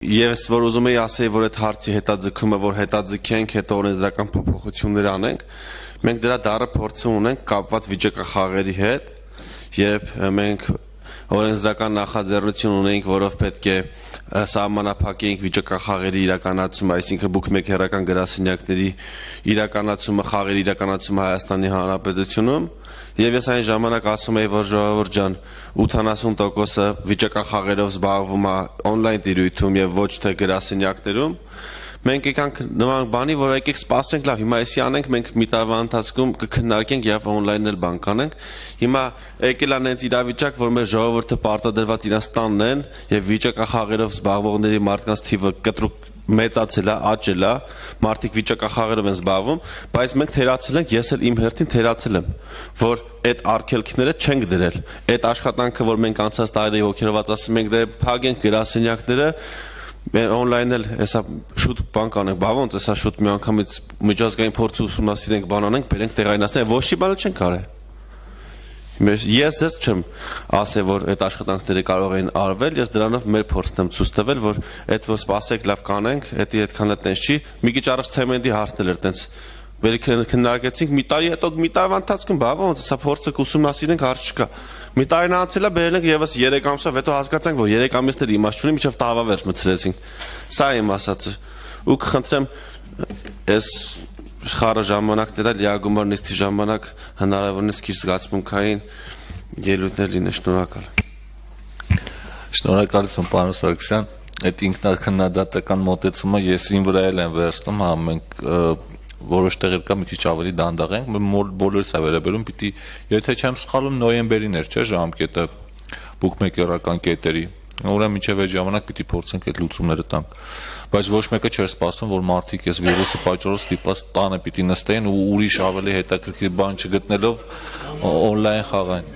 Ես որ ուզում եի ասեի, որ այդ հարցի հետաձգումը, որ հետաձգենք, հետո օրենսդրական փոփոխություններ անենք, մենք դրա դառը փորձը ունենք կապված վիճակախաղերի հետ, երբ մենք օրենսդրական նախաձեռնություն ունենք, որով պետք է սահմանափակենք վիճակախաղերի իրականացումը, այսինքն բուքմեքերական գրասենյակների իրականացումը, խաղերի իրականացումը Հայաստանի Հանրապետությունում, եւ ես այն ժամանակ ասում եի, որ ժողովուրդ ջան, 80%-ը վիճակախաղերով զբաղվում է on-line տիրույթում եւ ոչ թե գրասենյակներում, մենք եկանք նման բանի, որ եկեք սպասենք, լավ, հիմա էսի անենք, մենք մի տարվա ընթացքում կքննարկենք եւ on-line էլ բան կանենք։ Հիմա եկել է նենց իրավիճակ, որ մեր ժողովուրդը պարտադրված իրենց տանն են եւ վիճակախաղերով զբաղվողների մարդկանց թիվը կտրուկ մեծացել է, աճել է, մարդիկ վիճակախաղերով են զբաղվում, բայց մենք թերացել ենք, ես էլ իմ հերթին թերացել եմ, որ այդ արգելքները չենք դրել։ Այդ աշխատանքը, որ մենք անցած տարի հոգերված ասում ենք, դե փակենք գրասենյակները, on-line էլ հեսա շուտ բան կանենք, բա ոնց հեսա շուտ մի անգամից միջազգային փորձը ուսումնասիրենք, բան անենք, բերենք տեղայնացնենք, ոչ մի բան չենք արել։ Ես ձեզ չեմ ասել, որ այդ աշխատանքները կարող են արվել, ես դրանով մեր փորձն եմ ցույց տվել, որ այդ որ սպասեք, լավ կանենք, դա այդքան էլ տենց չի։ Մի քիչ առաջ ցեմենտի հարցն էր տենց։ Քննարկեցինք մի տարի հետո մի տարվա ընթացքում, բա ոնց հեսա փորձը կուսումնասիրենք, հարց չկա։ Մի տարին անցել է, բերել ենք եւս 3 ամսով, հետո հասկացանք, որ 3 ամիսներ իմաստ չունի, մինչեւ տարվա վերջ մտցրեցինք։ Սա իմ ասածը։ Ու կխնդրեմ, այս խառը ժամանակները լիագումար նիստի ժամանակ հնարավորինս քիչ զգացմունքային ելույթներ լինեն, շնորհակալ։ Շնորհակալություն, պարոն Սարգսյան, այդ ինքնաքննադատական մոտեցումը ես ին վրա էլ եմ վերցնում, հա մենք որոշ տեղեր կա մի քիչ ավելի դանդաղ ենք, բոլորս է վերաբերում, պիտի, եթե չեմ սխալվում, նոյեմբերին էր, չէ, ժամկետը բուքմեքերական կետերի, ուրեմն մինչև այդ ժամանակ պիտի փորձենք այդ լուծումները տանք, բայց ոչ մեկը չէր սպասում, որ մարդիկ այս վիրուսի պատճառով ստիպված տանը պիտի նստեն ու ուրիշ ավելի հետաքրքիր բան չգտնելով on-line խաղային։